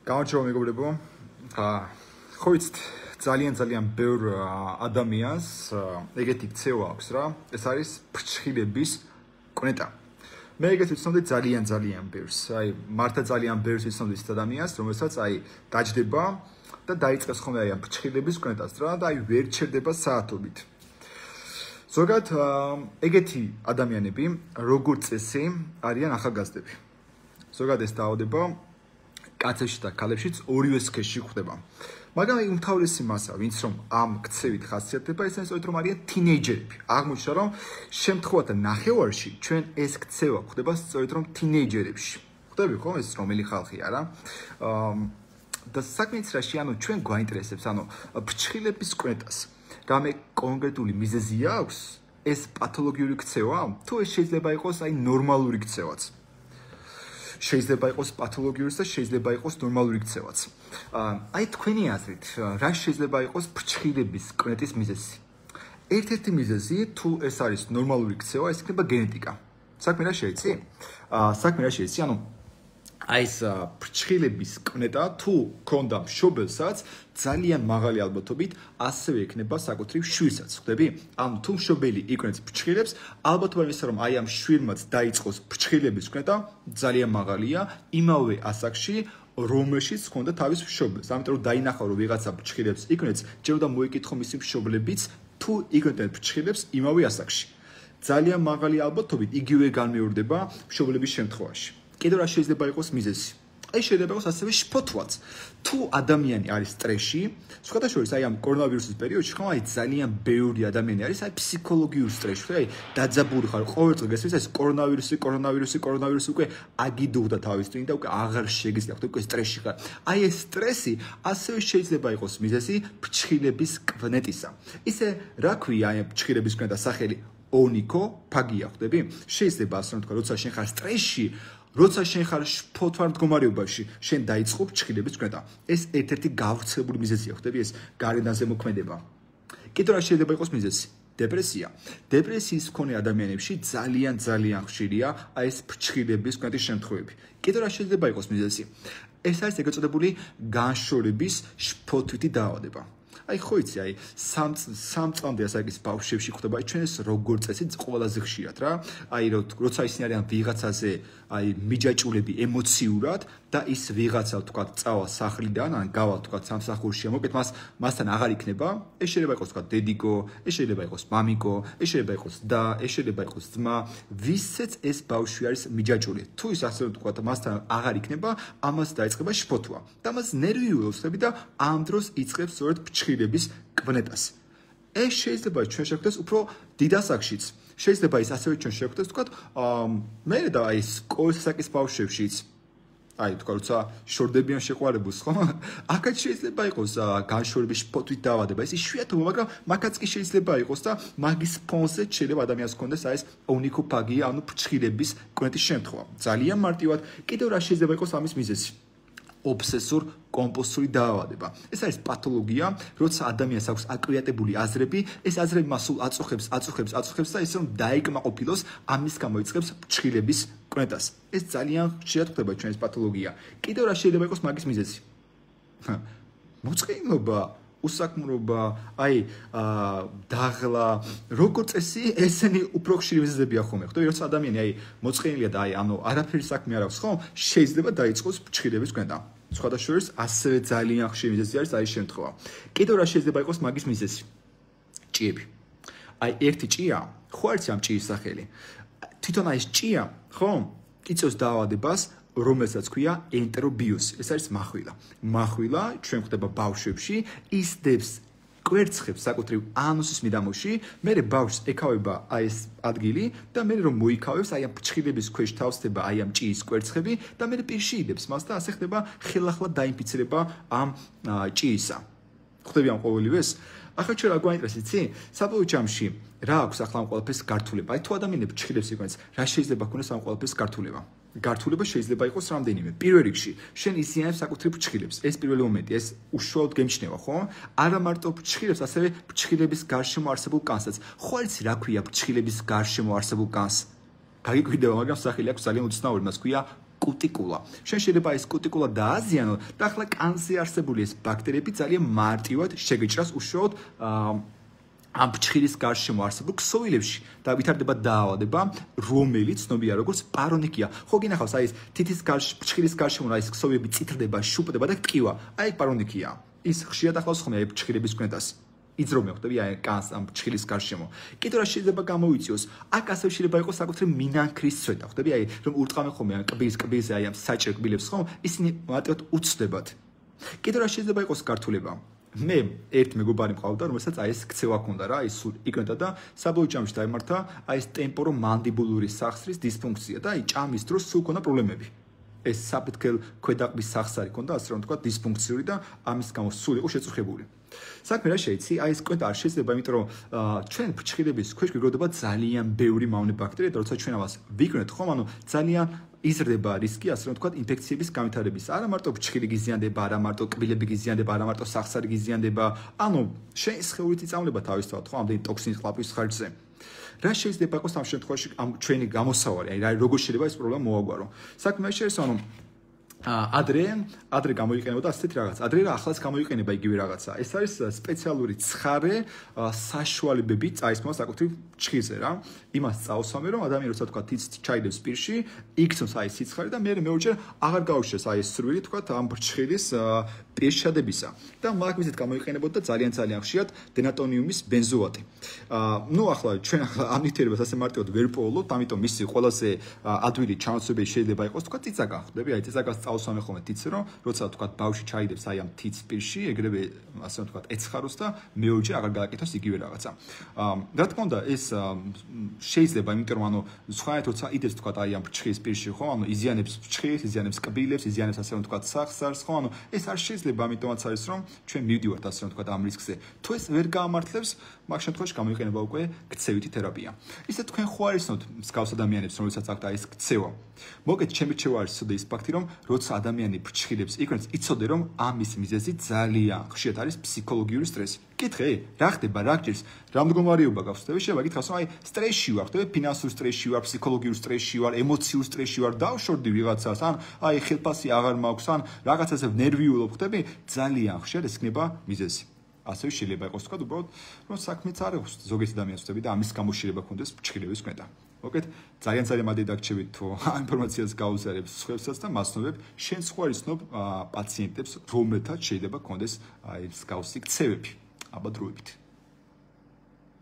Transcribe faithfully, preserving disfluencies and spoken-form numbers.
გამარჯობა მეგობრებო. ხო ვიცით, ძალიან ძალიან ბევრ ადამიანს ეგეთი ქცევა აქვს რა. ეს არის ფრჩხილების კვნეტა. მე ეგეთ ვიცნობდი ძალიან ძალიან ბევრს. აი, მართა ძალიან ბევრს ვიცნობდი ის ადამიანს, რომელსაც აი დაჯდება და დაიწყეს ხოლმე აი ამ ფრჩხილების კვნეტას რა და აი ვერ ჩერდება საათობით. ზოგადად ეგეთი ადამიანები, როგორც წესი, არიან ახალგაზრდები. ზოგადად ეს დაავადება კაცებში და ქალებშიც ორივე სქესში გვხვდება. მაგრამ აი უმთავრესი მასა, ვინც რომ ამ ქცევით ხასიათდება, ეს არის რომ არიან თინეიჯერები. აღმოჩნდა რომ შემთხვევათა ნახევარში ჩვენ ეს ქცევა გვხვდება სწორედ რომ თინეიჯერებში. ხვდები ხო ეს რომელი ხალხია რა? და საქმეც რაში, ანუ ჩვენ გვაინტერესებს, ანუ ფრჩხილების კვნეტას. რამე კონკრეტული მიზეზი აქვს ეს პათოლოგიური ქცევა? თუ ეს შეიძლება იყოს აი ნორმალური ქცევაც. შეიძლება იყოს პათოლოგიური და შეიძლება იყოს ნორმალური ქცევაც. აი თქვენი აზრით, რა შეიძლება იყოს ფრჩხილების კვნეტის მიზეზი? ერთ-ერთი მიზეზი, თუ ეს არის ნორმალური ქცევა, ეს იქნება გენეტიკა. საქმე რა შეიცი? საქმე რა შეიცი? ანუ აი ეს ფრჩხილების კვნეტა თუ ქონდა მშობელსაც ძალიან მაღალი ალბათობით ასევე ექნება საკუთრივ შვილსაც, ხვდები? ანუ თუ მშობელი იკვნევს ფრჩხილებს, ალბათობა იმისა, რომ აი ამ შვილმაც დაიწყოს ფრჩხილების კვნეტა, ძალიან მაღალია იმავე ასაკში, რომელშიც ჰქონდა თავის მშობელს. ამიტომ რომ დაინახა რომ ვიღაცა ფრჩხილებს იკვნევს, ჯერ უნდა მოიკითხო მისი მშობლებიც თუ იკვნევენ ფრჩხილებს იმავე ასაკში. ძალიან მაღალი ალბათობით იგივე განმეორდება მშობლების შემთხვევაში. კიდევ რა შეიძლება იყოს მიზეზი? აი შეიძლება იყოს ასევე შფოთვაც. თუ ადამიანი არის სტრესში, სხვადასხვა აი ამ კორონავირუსის პერიოდში ხომ აი ძალიან ბევრი ადამიანი არის აი ფსიქოლოგიურ სტრესში, აი დაძაბული ხარ, ყოველდღე გესმის ეს კორონავირუსი, კორონავირუსი, კორონავირუსი უკვე აგიდუღდა თავის წინ და უკვე აღარ შეგიძლია, უკვე სტრესში ხარ. აი ეს სტრესი ასევე შეიძლება იყოს მიზეზი ფრჩხილების კვნეტისა. ისე რა ქვია აი ფრჩხილების კვნეტას სახელი? ონიკოფაგია, ხვდები? შეიძლება ასე რომ თქვა, როცა შენ ხარ სტრესში, როცა შენ ხარ შფოთვარ მდგომარეობაში, შენ დაიწყო ფრჩხილების კვნეტა. ეს ერთ-ერთი გავრცელებული მიზეზია, ხვდები ეს გარედან ზემოქმედება. კიდევ რა შეიძლება იყოს მიზეზი? დეპრესია. დეპრესიის მქონე ადამიანებში ძალიან ძალიან ხშირია აი ეს ფრჩხილების კვნეტის შემთხვევები. კიდევ რა შეიძლება იყოს მიზეზი? ეს არის ეგრეთ წოდებული განშორების შფოთვითი დაავადება. აი ხო იცი, აი სამ წლამდე ასაკის ბავშვებში ხდება, აი ჩვენ ეს როგორ წესი ყველაზე ხშირად რა. აი როცა ისინი არიან ვიღაცაზე, აი მიჯაჭულები ემოციურად და ის ვიღაცა თქვა წავა სახლიდან, ან გავა თქვა სამსახურში, მოკეთ მას მასთან აღარ იქნება, ეს შეიძლება იყოს თქვა დედიკო, ეს შეიძლება იყოს მამიკო, ეს შეიძლება იყოს და, ეს შეიძლება იყოს ძმა, ვისაც ეს ბავშვი არის მიჯაჭული. თუ ის ასე თქვა მასთან აღარ იქნება, ამას დაიწყება შფოთვა. და მას ნერვიულობს და ამ დროს იწყებს სწორედ ფრჩხილების კვნეტას. ეს შეიძლება ჩვენ შევხვდეს უფრო დიდ ასაკშიც. შეიძლება ის ასევე ჩვენ შევხვდეს თქვა მე და აი სკოლის ასაკის ბავშვებშიც. აი თქვა როცა შორდებიან შეყვარებულს, ხო? აქაც შეიძლება იყოს განშორების შფოთვით დაავადება. ეს იშვიათობა, მაგრამ მაგაც კი შეიძლება იყოს და მაგის ფონზე შეიძლება ადამიანს ჰქონდეს აი ეს ონიკოფაგია, ანუ ფრჩხილების კვნეტის შემთხვევა. ძალიან მარტივად, კიდევ რა შეიძლება იყოს ამის მიზეზი? ობსესორ კომპულსური დაავადება. ეს არის პათოლოგია, როცა ადამიანს აქვს აკვიატებული აზრები, ეს აზრები მას სულ აწუხებს, აწუხებს, აწუხებს და ისე რომ დაიკმაყოფილოს, ამის გამო იწყებს ფრჩხილების კვნეტას. ეს ძალიან ხშირად ხდება ჩვენს პათოლოგია. კიდევ რა შეიძლება იყოს მაგის მიზეზი? მოწყენილობა, უსაქმრობა, აი დაღლა, როგორც წესი, ესენი უფრო ხშირი მიზეზებია ხოლმე. ხვდები, როცა ადამიანი აი მოწყენილია და აი ანუ არაფერი საქმე არ აქვს, ხო? შეიძლება დაიწყოს ფრჩხილების კვნეტა. სხვადასხვა ასევე ძალიან ხშირი მიზეზი არის აი შემთხვევა. კიდევ რა შეიძლება იყოს მაგის მიზეზი? ჭიები. აი ერთი ჭია, ხო არის ამ ჭიის სახელი. თვითონ აი ეს ჭია, ხო? იწვევს დაავადებას, რომელსაც ქვია ენტერობიოზი. ეს არის מחვილა. מחვილა ჩვენ ხდება ბავშვებში, ის დებს კვერცხებს საკუთრივ ანუსის მიდამოში, მერე ბავშვს ეკავება აი ეს ადგილი და მერე რომ მოიკავებს აი ამ ფრჩხილების ქვეშ თავსდება აი ამ ჭიის კვერცხები და მერე პირში იდებს მას და ასე ხდება ხელახლა დაინფიცირება ამ ჭიისა. ხვდები ამ ყოველივეს? ახლა ჩვენ რა გვაინტერესებს, იცი? საბოლოო ჯამში რა აქვს ახლა ამ ყველაფერს გართულება? აი თუ ადამიანები ფრჩხილებს იკვნევს, რა შეიძლება ქონდეს ამ ყველაფერს გართულება? გართულება შეიძლება იყოს რამდენიმე. პირველ რიგში, შენ იზიანებს საკუთრივ ფრჩხილებს. ეს პირველი მომენტი, ეს უშუალოდ გემჩნევა, ხო? არა მარტო ფრჩხილებს, ასევე ფრჩხილების გარშემო არსებულ კანსაც. ხო არის რა ქვია ფრჩხილების გარშემო არსებულ კანს? გაგიკვირდება, მაგრამ სახელი აქვს ძალიან უცნაური, მას ქვია კუტიკულა. შენ შეიძლება ეს კუტიკულა დააზიანო და ახლა კანზე არსებული ეს ბაქტერიები ძალიან მარტივად შეგეჭრას უშუალოდ ამ ფჩხილის გარშემო არსებულ ქსოვილებში და ვითარდება დაავადება, რომელიც ცნობილია როგორც პარონიკია. ხო გინახავს აი ეს თითის ფჩხილის გარშემო აი ეს ქსოვილები წითლდება, შუპდება და ტკივა. აი პარონიკია. ის ხშირად ახლავს ხოლმე აი ფჩხილების კვნეტას. იძრომე ხვდები აი კანს ამ ფჩხილის გარშემო. კიდევ რა შეიძლება გამოიწვიოს? აქ ასევე შეიძლება იყოს საკუთრივ მინანქრის ცვეთა. ხვდები აი რომ ურტყამენ ხოლმე ამ კბილის კბილზე აი ამ საჭერ კბილებს ხომ? ისინი მარტივად უცდებათ. კიდევ რა შეიძლება იყოს გართულება? მე ერთ მეგობარი მყავდა, რომელსაც აი ეს ქცევა ჰქონდა რა, ის სულ იკნოდა და საბოლოო ჯამში დაემართა აი ეს ტემპორომანდიბულური სახსრის დისფუნქცია და აი ჭამის დროს სულ ჰქონდა პრობლემები. ეს საფეთქელ ქვედაყბის სახსარი ჰქონდა, ასე რომ ვთქვა, დისფუნქციური და ამის გამო სულ იყო შეწუხებული. საქმე რა შეიცი? აი ეს კვენტა არ შეიძლება, იმიტომ რომ ჩვენ ფრჩხილების ქვეშ გვიგროვდება ძალიან ბევრი მავნე ბაქტერია და როცა ჩვენ ამას ვიკვნეთ, ხომ, ანუ ძალიან იზრდება რისკი, ასე რომ ვთქვა, ინფექციების განვითარების. არა მარტო ფრჩხილი გიზიანდება, არა მარტო კბილები გიზიანდება, არა მარტო სახსარი გიზიანდება. ანუ შენ სხეულით იწამლება თავისთავად, ხო, ამდენი ტოქსინის ყლაპის ხარჯზე. რა შეიძლება იყოს ამ შემთხვევაში ამ ჩვენი გამოსავალი? აი რა როგორ შეიძლება ეს პრობლემა მოაგვარო? საქმე შეიძლება, ანუ ადრე ადრე გამოიყენებოდა ასეთი რაღაც. ადრე რა ახლაც გამოიყენება იგივე რაღაცა. ეს არის სპეციალური ცხარე საშუალებები წაისმოს საკუთრივ ჭხირზე რა. იმას წაუსვამე რომ ადამიანი როცა თქვა თიც ჩაიდებს პირში, იქცოს აი სიცხარე და მე მეორჯერ აღარ გაუშვეს აი ეს სრვილი თქვა ამ ჭხირის პირშადებისა. და მაგ მიზეთ გამოიყენებოდა ძალიან ძალიან ხშირად დენატონიუმის ბენზოატი. აა ნუ ახლა ჩვენ ახლა ამ ნივთიერებას ასე მარტივად ვერ პოულობთ, ამიტომ მისი ყველაზე ადვილი ჩანაცვლებელი შეიძლება იყოს თქვა ციცაკა. ხვდები აი ციცაკას წაუსვამე ხოლმე თიცზე რომ როცა თქვა ბავშვი ჩაიდებს აი ამ თიც პირში, ეგრევე ასე ვთქვა ეცხაროს და მეორჯერ აღარ გააკეთოს იგივე რაღაცა. აა რა თქმა უნდა ეს შეიძლება, იმიტომ რომ ანუ სხვაით როცა იდებს თქვა აი ამ ფრჩხილის პირში, ხო, ანუ იზიანებს ფრჩხილს, იზიანებს კბილებს, იზიანებს ასე რომ თქვა სახსარს, ხო, ანუ ეს არ შეიძლება, ამიტომაც არის რომ ჩვენ მივდივართ ასე რომ თქვა ამ რისკზე. თუ ეს ვერ გაამართლებს, მაგ შემთხვევაში გამოიყენება უკვე ქცევითი თერაპია. ისე თქვენ ხო არიცნოთ მსგავს ადამიანებს, რომელსაც აქვთ აი ეს ქცევა. მოგეთ ჩემი რჩევა არის ცოდე ის ფაქტი, რომ როცა ადამიანი ფრჩხილებს იქნებს, იცოდე რომ ამის მიზეზი ძალიან ხშირად არის ფსიქოლოგიური სტრესი. კითხე, რა ხდება, რა გჭირს, რა მდგომარეობა გაქვს, ხდება, შეიძლება გითხრას, რომ აი სტრესში ვარ, ხდება, ფინანსურ სტრესში ვარ, ფსიქოლოგიურ სტრესში ვარ, ემოციურ სტრესში ვარ, დავშორდი ვიღაცას, ან აი ხელფასი აღარ მაქვს, ან რაღაცაზე ნერვიულობ, ხდები, ძალიან ხშირად ეს იქნება მიზეზი. ასევე შეიძლება იყოს თქვა, უბრალოდ, რომ საქმეც არ აქვს ზოგიერთი ადამიანს ხდები და ამის გამო შეიძლება ქონდეს ფრჩხილების კვნეტა. მოგეთ, ძალიან ძალიან მადლი დაგრჩებით, თუ ამ ინფორმაციას გაუზიარებს სხვებსაც და მასნობებ, შენ სხვა ისნობ პაციენტებს, რომელთაც შეიძლება ქონდეს აი მსგავსი ქცევები. აბა დროებით.